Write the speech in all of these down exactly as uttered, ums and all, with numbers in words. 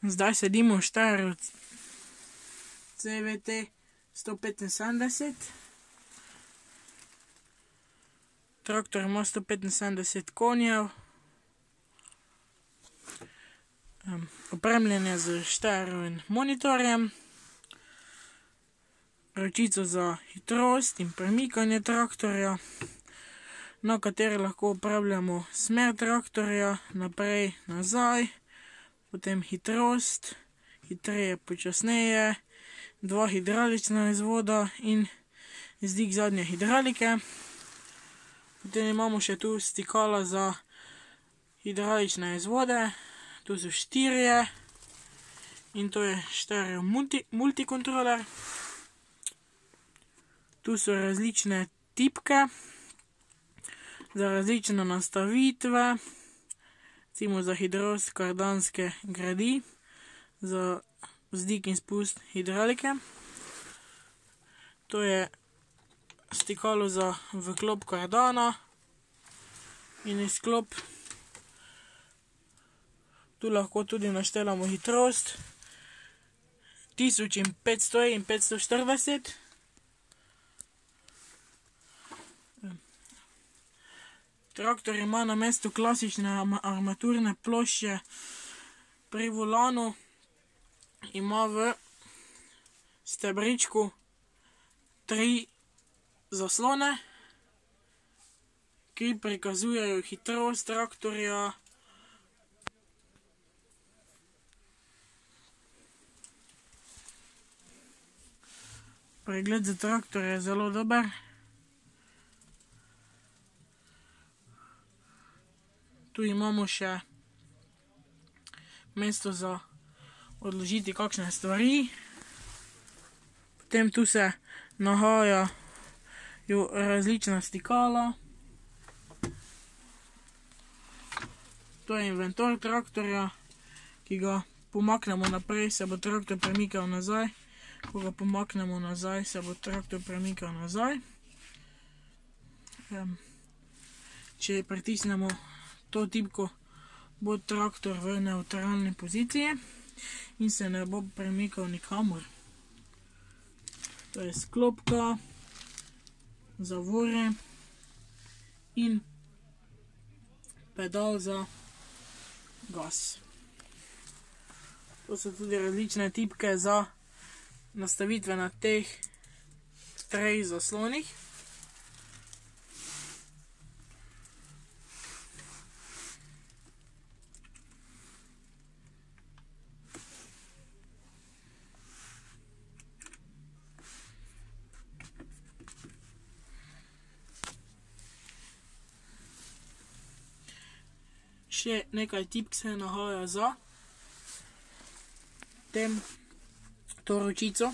Zdaj sedimo v Steyru C V T sto petinsedemdeset. Traktor ima sto petinsedemdeset konjev. Opremljen je z Steyrovim monitorjem, ročico za hitrost in premikanje traktorja, na kateri lahko upravljamo smer traktorja, naprej, nazaj, potem hitrost, hitreje, počasneje, dva hidravlična izvoda in izdig zadnje hidraulike. Potem imamo še tu stikala za hidravlične izvode, tu so štirje in to je Steyrov multi, multikontroler. Tu so različne tipke za različne nastavitve, recimo za hitrost kardanske gredi, za vzdik in spust hidravlike. To je stikalo za vklop kardana in izklop. Tu lahko tudi naštelamo hitrost, tisoč in petsto in petsto štirideset. Traktor ima na mestu klasične armaturne plošče pri volanu, ima v stebričku tri zaslone, ki prikazujejo hitrost traktorja, pregled za traktor je zelo dober. Tu imamo še mesto za odložiti kakšne stvari. Potem tu se nahajajo različna stikala. To je inventar traktorja, ki ga pomaknemo naprej, se bo traktor premikal nazaj. Ko ga pomaknemo nazaj, se bo traktor premikal nazaj. Če pritisnemo to tipko, bo traktor v nevtralni poziciji in se ne bo premikal nikamor. To je sklopka, zavore in pedal za gas. To so tudi različne tipke za nastavitve na teh treh zaslonih. Še nekaj tipk se nahaja za tem, to ročico.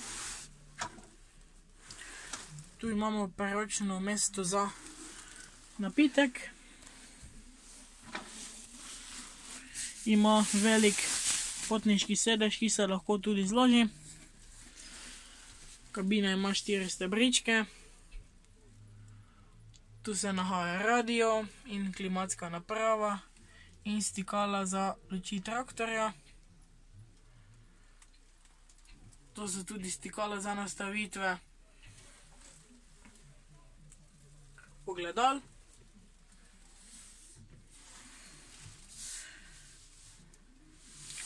Tu imamo preročno mesto za napitek. Ima velik potniški sedež, ki se lahko tudi zloži. Kabina ima štiri stebričke. Tu se nahaja radio in klimatska naprava in stikala za luči traktorja. To so tudi stikala za nastavitve ogledal.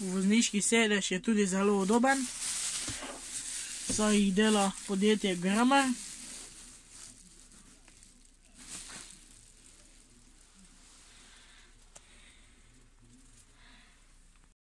Vozniški sedež je tudi zelo udoben, saj jih dela podjetje Grummer.